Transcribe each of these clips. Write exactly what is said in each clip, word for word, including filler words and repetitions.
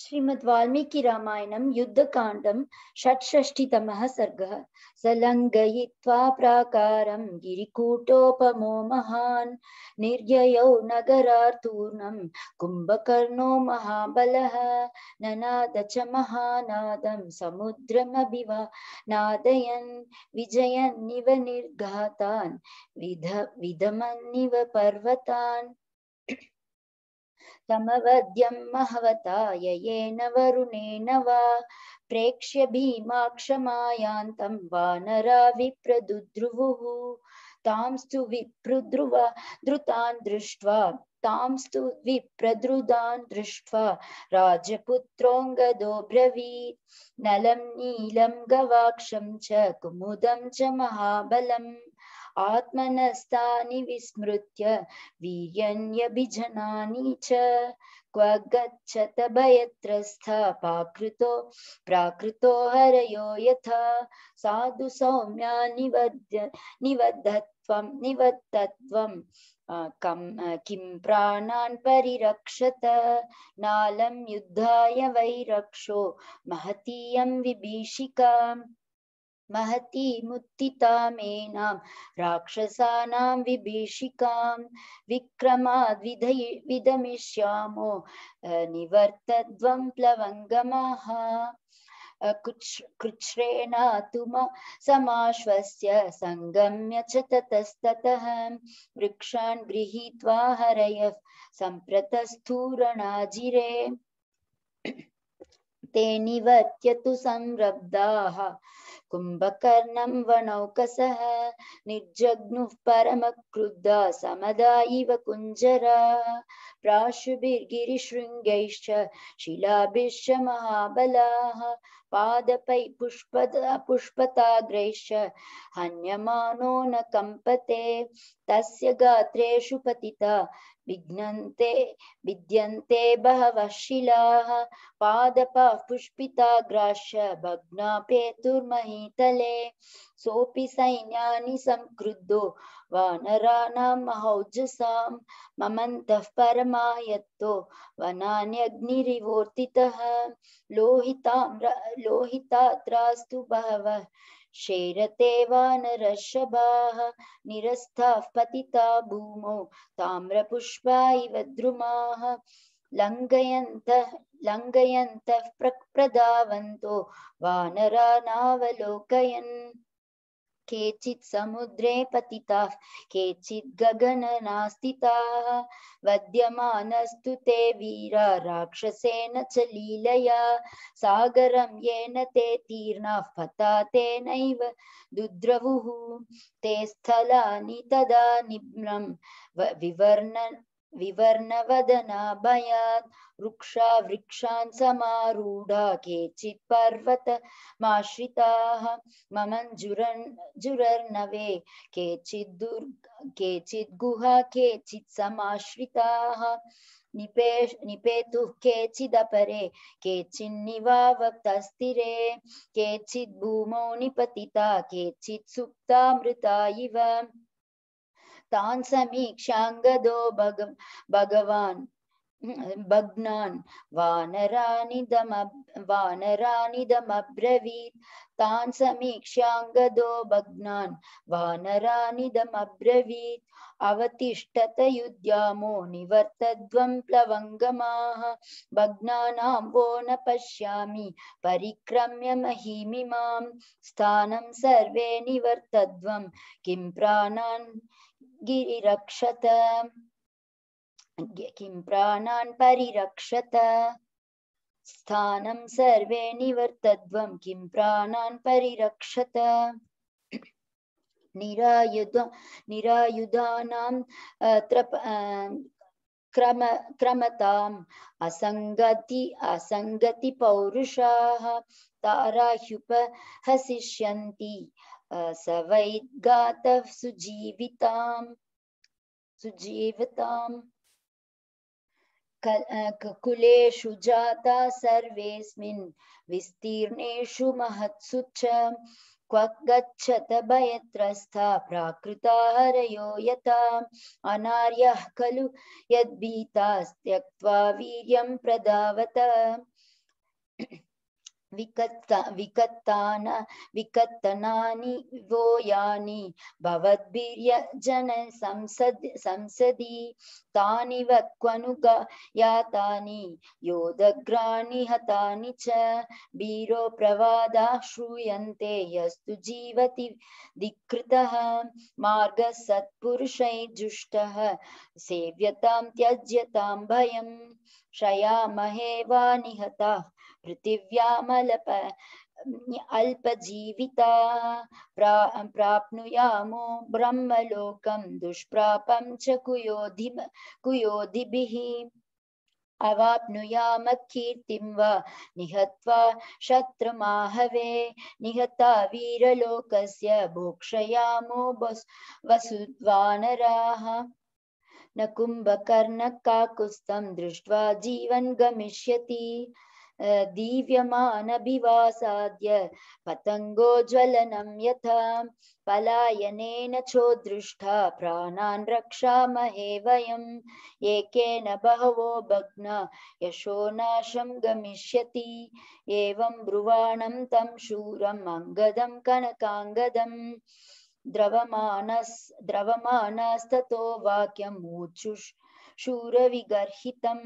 श्रीमद् वाल्मीकि रामायणं युद्धकाण्डं षट्षष्टितमः सर्गः। सलङ्घयित्वा प्राकारं गिरिकूटोपमो महान् निर्ययौ नगरार्तूर्णं कुम्भकर्णो महाबलः ननाद च महानादं समुद्रमभिवानादयन् विजयन्निव निर्घातान् विध विधमन्निव पर्वतान् तमवद्यं महवता ययेन वरुणेन वा प्रेक्ष्य भीमाक्षमायान्तं वानरा विप्रदुद्रुवुः तांस्तु विप्रद्रुवा धृतान् दृष्ट्वा तांस्तु विप्रद्रुतान् दृष्ट्वा राजपुत्रोऽङ्गदो ब्रवीत् नलं नीलं गवाक्षं च कुमुदं च महाबलम् आत्मनस्तानि विस्मृत्य वीर्यन्यभिजनानि च क्व गच्छत भयत्रस्था पाकृतो प्राकृतो हरयो यथा साधु सौम्या निवद्य निवद्धत्वं निवद्धत्वं किं प्राणान् परिरक्षत नालं युद्धाय वैरक्षो महतीयं विभीषिकाम् महती मुत्थितामेनां राक्षसानां विभीषिकां विक्रमाद् विदमिष्यामो निवर्तध्वं प्लवङ्गमाः कृच्छ्रेणातु समाश्वस्य संगम्य च ततस्ततः वृक्षान् गृहीत्वा हरयः सम्प्रतस्थूरणाजिरे ते निवर्त्यतु संरब्धाः कुम्भकर्णं वनौकसः निर्जग्नुः परमक्रुद्धा समदा इव कुञ्जरा प्राशुभिर्गिरिशृङ्गैश्च शिलाभिश्च महाबलाः पादपै पुष्पदा पुष्पताग्रैश्च हन्यमानो न कम्पते तस्य गात्रेषु पतिता विघ्नन्ते विद्यन्ते बहवः शिलाः पादपाः पुष्पिताग्राश्च भग्नापेतुर्महीतले सोऽपि सैन्यानि संक्रुद्धो वानराणां महौजसां ममन्तः परमायत्तो वनान्यग्निरिवोर्तितः लोहिताम्र लोहितात्रास्तु बहवः शेरते वानरर्षभाः निरस्ताः पतिता भूमौ ताम्रपुष्पा इव द्रुमाः लङ्घयन्तः लङ्घयन्तः प्रधावन्तो वानरानावलोकयन् केचित् समुद्रे पतिताः केचित् गगननास्थिताः वध्यमानस्तु ते वीरा राक्षसेन च लीलया सागरं येन ते तीर्णाः पता तेनैव दुद्रवुः ते स्थलानि तदा निम्नं विवर्ण विवर्णवदना भयात् वृक्षा वृक्षान् समारूढा केचित् पर्वतमाश्रिताः ममञ्जुरन् जुरर्नवे केचित् दुर्ग केचित् गुहा केचित् समाश्रिताः निपेश निपेतुः केचिदपरे केचिन्निवावक्तस्थिरे केचित् भूमौ निपतिता केचित् सुप्तामृता इव तान् समीक्षाङ्गदो भग भगवान् भग्नान् वानरानिदम वानरानिदमब्रवीत् तान् समीक्षाङ्गदो भग्नान् वानरानिदमब्रवीत् अवतिष्ठत युध्यामो निवर्तध्वं प्लवङ्गमाः भग्नानां वो न पश्यामि परिक्रम्य महीमिमां स्थानं सर्वे निवर्तध्वं किं प्राणान् गिरिरक्षत किं प्राणान् परिरक्षत स्थानं सर्वे निवर्तध्वं किं प्राणान् परिरक्षत निरायुध निरायुधानां क्रम क्रमताम् असङ्गति असङ्गति पौरुषाः ताराह्युपहसिष्यन्ति स वै गातः सुजीविताम् सुजीविताम् कुलेषु जाता सर्वेस्मिन् विस्तीर्णेषु महत्सु च क्व गच्छत भयत्रस्था प्राकृता हरयो यथा अनार्यः खलु यद्भीतास्त्यक्त्वा वीर्यं प्रधावत विकत्ता विकत्तान विकत्तनानि वो यानि भवद्भिर्यजन संसद संसदि तानि वक्वनुगा यातानि योदग्राणि हतानि च वीरो प्रवादा श्रूयन्ते यस्तु जीवति धिकृतः मार्गः सत्पुरुषैर्जुष्टः सेव्यतां त्यज्यतां भयम् शयामहे वा निहताः पृथिव्यामल्प अल्पजीविता प्रा प्राप्नुयामो ब्रह्मलोकं दुष्प्रापं च कुयोधि कुयोधिभिः अवाप्नुयाम कीर्तिं वा निहत्वा शत्रुमाहवे निहता वीरलोकस्य भोक्षयामो वसुद्वानराः न कुम्भकर्णकाकुत्स्थं दृष्ट्वा जीवन् गमिष्यति दीव्यमानभिवासाद्य पतङ्गोज्ज्वलनं यथा पलायनेन चोदृष्टा प्राणान् रक्षामहे वयम् एकेन बहवो भग्ना यशो नाशं गमिष्यति एवं ब्रुवाणं तं शूरम् अङ्गदं कनकाङ्गदम् द्रवमानस् द्रवमानस्ततो वाक्यम् ऊचुः शूरविगर्हितम्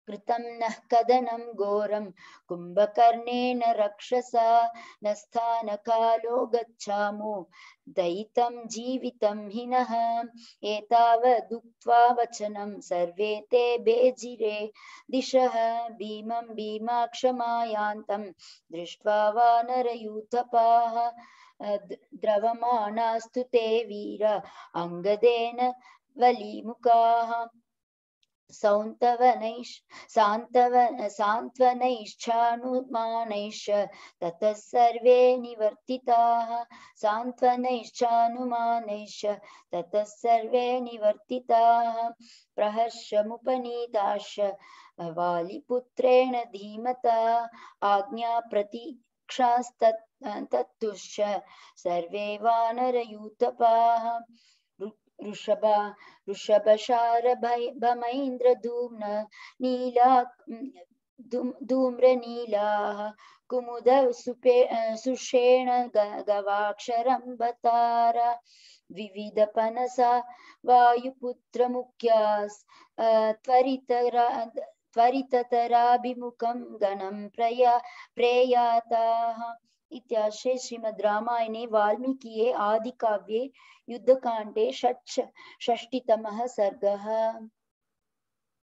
कृतं नः कदनं घोरं कुम्भकर्णेन रक्षसा न स्थानकालो गच्छामो दयितं जीवितं हिनः एतावदुक्त्वा वचनं सर्वे ते बेजिरे दिशः भीमं भीमाक्षमायान्तं दृष्ट्वा वानरयूथपाः द्रवमाणास्तु ते वीर अङ्गदेन वलीमुखाः सौन्तवनैश् सान्त्वन सान्त्वनैश्चानुमानैश्च ततः सर्वे निवर्तिताः सान्त्वनैश्चानुमानैश्च ततः सर्वे निवर्तिताः प्रहर्षमुपनीताश्च वालिपुत्रेण धीमता आज्ञाप्रतीक्षास्तत्तुश्च सर्वे वानरयूथपाः ऋषभा ऋषभशारभमैन्द्रधूम्न नीला धूम्रनीलाः कुमुद सुषेण गवाक्षरम्बतार विविधपनसा वायुपुत्रमुख्यास् त्वरितरा त्वरिततराभिमुखं गणं प्रया प्रेयाताः इत्याश्रे श्रीमद् रामायणे वाल्मीकिये आदिकाव्ये युद्धकाण्डे षट् षष्टितमः सर्गः।